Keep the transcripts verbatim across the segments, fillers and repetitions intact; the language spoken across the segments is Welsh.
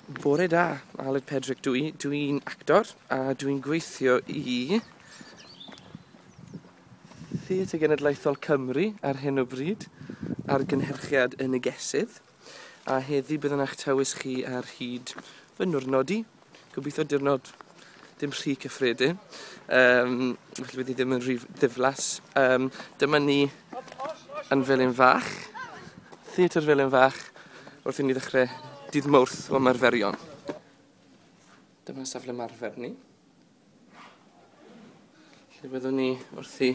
Bore da, Aled Pedrick dwi. Dwi'n actor a dwi'n gweithio i Theatr Genedlaethol Cymru ar hyn o bryd ar gynhyrchiad Y Negesydd. A heddi byddwn eich tywys chi ar hyd fy niwrnod i. Gobeithio diwrnod ddim rhy cyffredin. Um, felly bydd hi ddim yn rhy ddiflas. Um, dyma ni yn Felin Fach, Theatr Felin Fach, wrth i ni ddechrau dydd Mawrth o ymarferion. Dyma safle ymarfer ni, lle byddwn ni wrthi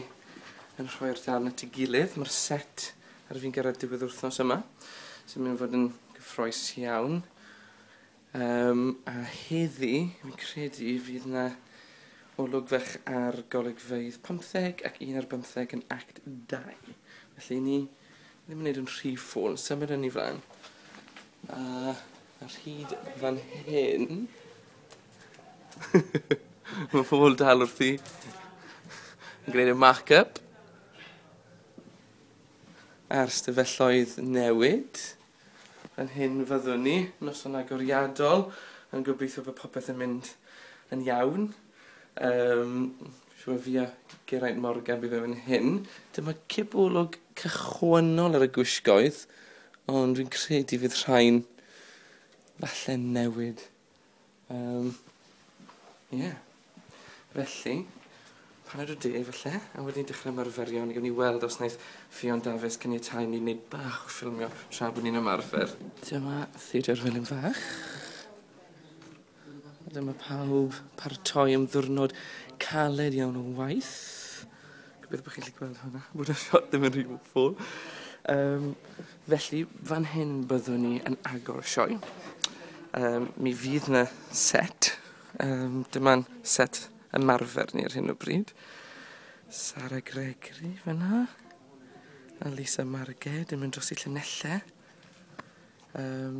yn rhoi'r darn at ei gilydd. Mae'r set ar fin gyrraedd diwedd wythnos yma, sy'n mynd i fod yn gyffrous iawn. Um, a heddi, fi'n credu, fydd yna olwg fach ar golygfeydd pymtheg ac un ar bymtheg yn act dau. Felly ni ddim yn gwneud yn rhy ffôl, symud yn ei flaen. A ar hyd fan hyn, mae pobl dal wrthi yn gwneud y mark-up a'r stafelloedd newid. Fan hyn fyddwn ni, noson agoriadol, yn gobeithio bod popeth yn mynd yn iawn. Um, Siŵr fi a Geraint Morgan bydd fan hyn. Dyma cipolwg cychwynnol ar y gwisgoedd, ond dwi'n credu fydd rhain falle newid. Um, yeah. Felly, paned o de falle, a wedyn dechrau ymarferion. Gawn ni weld os wnaeth Ffion Dafis caniatáu ni wneud bach o ffilmio tra bod ni'n ymarfer. Dyma Theatr Felin Fach. A dyma pawb paratoi am ddiwrnod caled iawn o waith. Gobeithio bod chi'n gallu gweld hwnna, bod y shot ddim yn rhy ffôl. Um, felly, fan hyn byddwn ni yn agor y sioe. Um, mi fydd yna set. Um, dyma'n set ymarfer ni ar hyn o bryd. Sara Gregory fyna. A Lisa Marged yn mynd dros i llinellau. Um,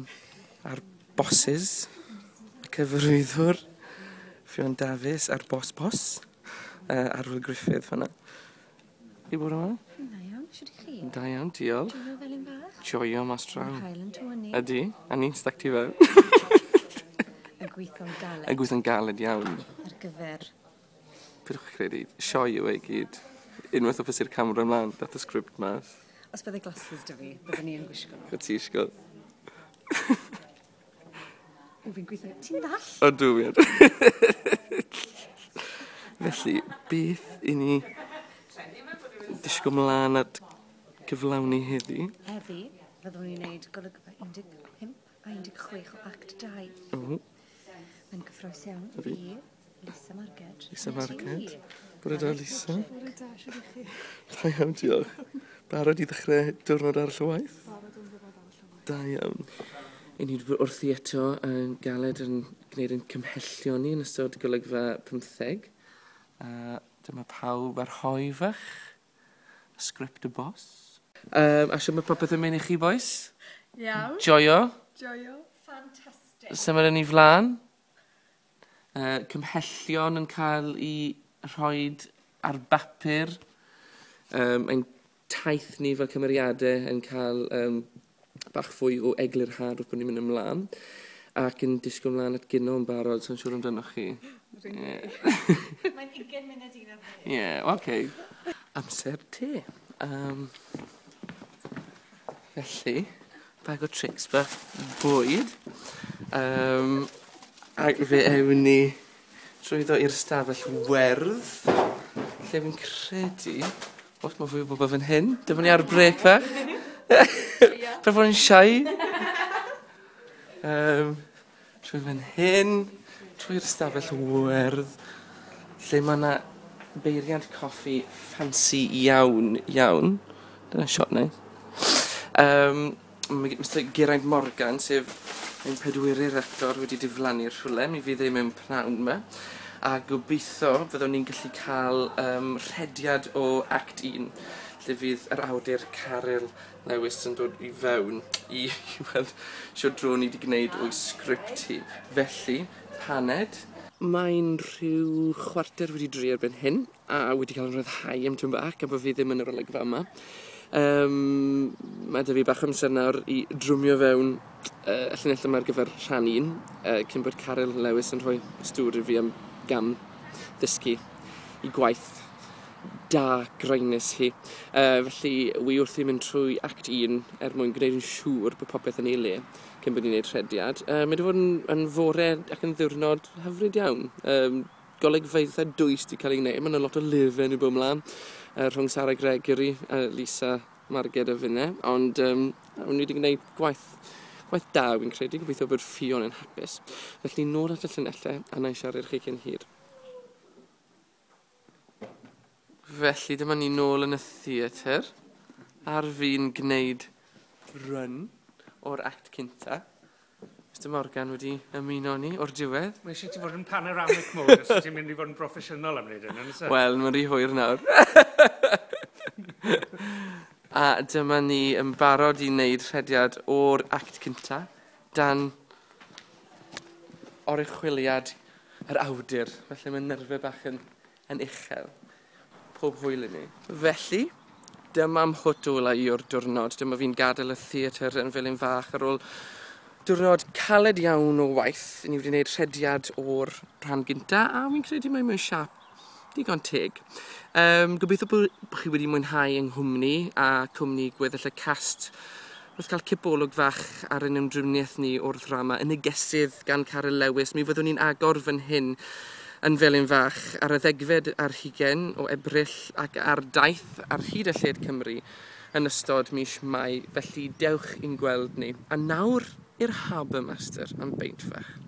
a'r bosses. Y cyfarwyddwr. Ffion Dafis a'r boss boss. Uh, Arwyl Griffith fyna. I bod yma? Da iawn, shwt i chi? Da iawn, diolch. Joio Felin Fach? Joio mas draw. Mae'r haul yn tywynnu. Ydy, a ni'n stuck tu fewn. Yn gweithio'n galed. Yn gweithio'n galed iawn. Ar gyfer... Pidwch credu, sioe yw e i gyd. Unwaith o fysi'r camera ymlaen, dath y sgript mas. Os bydde glasses 'da fi, byddwn ni yn gwisgo nhw. Chod ti isio. O, fi'n gweithio... Ti'n ddall? Ydw, fi. Felly, beth i ni disgwyl mlaen at gyflawni heddi? Heddi, fyddwn ni'n neud golygfa un deg pump a un deg chwech o act dau. O. Mae'n gyffrous iawn. Fi. Fi, Lisa Marged. Lisa A ti. Marged. Bore da, Lisa. Bore da, shwt i chi? Da iawn, diolch. Barod i ddechrau diwrnod arall o waith? Barod am ddiwrnod arall o waith. Da iawn. I ni wedi bod wrthi eto yn galed yn gwneud yn cymhellion ni yn ystod golygfa pymtheg. A dyma pawb ar hoe fach. Sgript y boss. Um, a siwr mae popeth yn mynd i chi, boys? Iawn. Joio. Joio. Fantastic. Symud yn ei flaen. Uh, cymhellion yn cael ei rhoi ar bapur. Um, ein taith ni fel cymeriadau yn cael um, bach fwy o eglurhad wrth bod ni'n mynd ymlaen. Ac yn disgwyl ymlaen at gino yn barod, so'n siŵr amdanoch chi. Mae'n ugain munud un ar ddeg. Ie, yeah, oce. Okay. Amser te. Um, felly, bag o tricks bach bwyd. Um, ac fe ewn ni trwyddo i'r stafell werdd, lle fi'n credu... O, mae fwy o bobl fan hyn. Dyma ni ar brêc fach. Paid fod yn shy. Um, trwy fan hyn, trwy'r stafell werdd, lle mae yna beiriant coffi ffansi iawn, iawn. Dyna shot nice. Um, mae Mister Geraint Morgan, sef ein pedwerydd actor, wedi diflannu'r rhywle. Mi fydd e mewn pnawn yma. A gobeithio fyddwn ni'n gallu cael um, rhediad o act un, lle fydd yr awdur Caryl Lewis yn dod i fewn i, i weld shwt dro ni wedi gwneud o'i sgript hi. Felly, paned. Mae'n rhyw chwarter wedi dri erbyn hyn, a wedi cael yn rhyddhau am tyn bach, a bod fi ddim yn yr olygfa yma. Um, mae 'da fi bach o amser nawr i drwmio fewn uh, y llinell yma ar gyfer rhan un, uh, cyn bod Caryl Lewis yn rhoi stŵr i fi am gam ddysgu i gwaith da graenus hi. Uh, felly, wi wrthi mynd trwy act un er mwyn gwneud yn siŵr bod popeth yn ei le cyn bod ni'n gwneud rhediad. Uh, mae wedi bod yn, yn fore ac yn ddiwrnod hyfryd iawn. Um, golygfeydd eitha dwys wedi cael ei gwneud. Mae yna lot o lyfr yn bod ymlaen uh, rhwng Sarah Gregory, uh, Lisa, Marged a finne. Ond um, ni wedi gwneud gwaith, gwaith da, fi'n credu. Gobeithio bod Ffion yn hapus. Felly nôl at y llinellau a na i siarad chi cyn hir. Felly dyma ni nôl yn y theatr ar fi'n gwneud run o'r act cynta. Mister Morgan wedi ymuno ni o'r diwedd. Mae eisiau ti fod yn panoramic mode os ti'n mynd i fod yn broffesiynol am wneud hyn, yn e? Wel, mae'n rhy hwyr nawr. A dyma ni yn barod i wneud rhediad o'r act cynta dan oruchwyliad yr awdur. Felly mae nerfau bach yn, yn uchel. Pob hwyl i ni. Felly, dyma mhwt ola i o'r diwrnod. Dyma fi'n gadael y theatr yn Felin Fach ar ôl diwrnod caled iawn o waith. Ni wedi gwneud rhediad o'r rhan gynta, a fi'n credu mae mewn siâp digon teg. Um, gobeithio bod chi wedi mwynhau yng nghwmni a cwmni gweddill y cast wrth cael cipolwg fach ar ein ymdriniaeth ni o'r ddrama Y Negesydd gan Caryl Lewis. Mi fyddwn ni'n agor fan hyn yn Felin Fach ar y ddegfed ar hugain o Ebrill ac ar daith ar hyd a lled Cymru yn ystod mis Mai. Felly dewch i'n gweld ni. A nawr i'r Harbour Master am beint fach.